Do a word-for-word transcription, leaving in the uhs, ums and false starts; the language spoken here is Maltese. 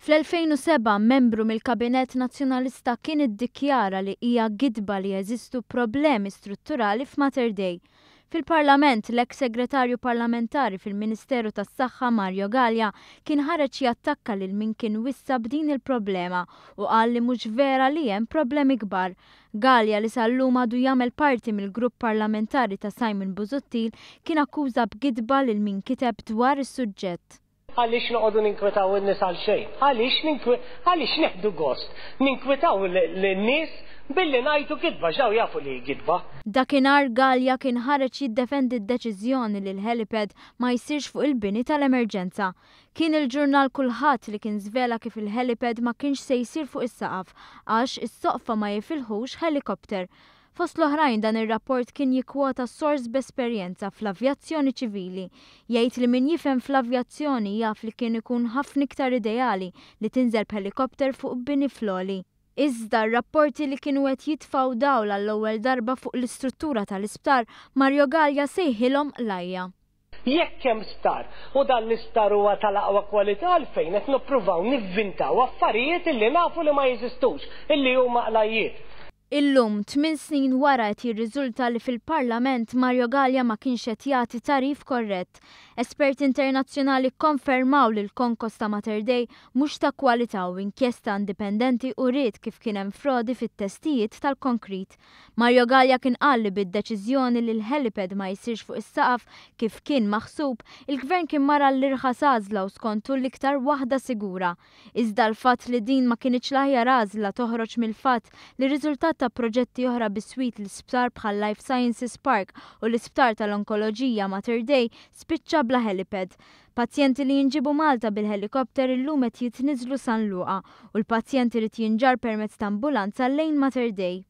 Fl-elfejn u sebgħa, membru mill-Kabinett Nazzjonalista kien iddikjara li hija gidba li jeżistu problemi strutturali f'Mater Dei. Fil-Parlament, l-eks segretarju parlamentari fil-Ministeru tas-Saħħa Mario Galea kien ħareġ jattakka lil min kien wissa b'din il-problema u qal li mhux vera li hemm problemi kbar. Galea, li sal-lum għadu jagħmel parti mill-grupp parlamentari ta' Simon Busuttil, kien akkuża b'gidba lil min kiteb dwar is-suġġett. Għaliex noqogħdu ninkwetaw in-nies għal xejn? Għaliex ninkwe-, għaliex neħdu gost ninkwetaw lin-nies billi ngħidu gidba, ġaw jafu li gidba. Dakinhar Galea kien ħareġ jiddefendi d-deċiżjoni li l-helipad ma jsirx fuq il-bini tal-emerġenza. Kien il-ġurnal Kulħadd li kien żvela kif il-helipad ma kienx se jsir fuq is-saqaf għax is-soqfa ma jifilħux helikopter. Fost l-oħrajn, dan ir-rapport kien jikkwota sors b'esperjenza fl-avjazzjoni ċivili. Jgħid li min jifhem fl-avjazzjoni jaf li kien ikun ħafna iktar ideali li tinżel b'helikopter fuq bini fl-għoli. Iżda r-rapporti li kienu qed jitfgħu dawl għall-ewwel darba fuq l-istruttura tal-isptar, Mario Galea sejħilhom qlajja. Jekk hemm sptar u dan l-isptar huwa tal-aqwa kwalità, għalfejn qed nippruvaw nivvintaw affarijiet illi nafu li ma jeżistux, illi huma qlajjiet? Illum, tmien snin wara, qed jirriżulta li fil-Parlament Mario Galea ma kienx qed jagħti tagħrif korrett. Esperti internazzjonali kkonfermaw li l-konkos ta' Mater Dei mhux ta' kwalità u inkjesta indipendenti uriet kif kien hemm frodi fit-testijiet tal-konkrit. Mario Galea kien qal li bid-deċiżjoni li l-helipad ma jsirx fuq is-saqaf kif kien maħsub, il-gvern kien mar l-irħas għażla u skontu l-iktar waħda sigura. Iżda l-fatt li din ma kinitx l-aħjar għażla toħroġ mill-fatt li riżultat ta' proġetti oħra biswit l-isptar bħal Life Sciences Park u l-isptar tal-Onkoloġija Mater Dei spiċċa bla helipad. Pazjenti li jinġibu Malta bil-helikopter illum qed jitniżlu San Luqa u l-pazjenti irid jinġarr permezz ta' ambulanza lejn Mater Dei.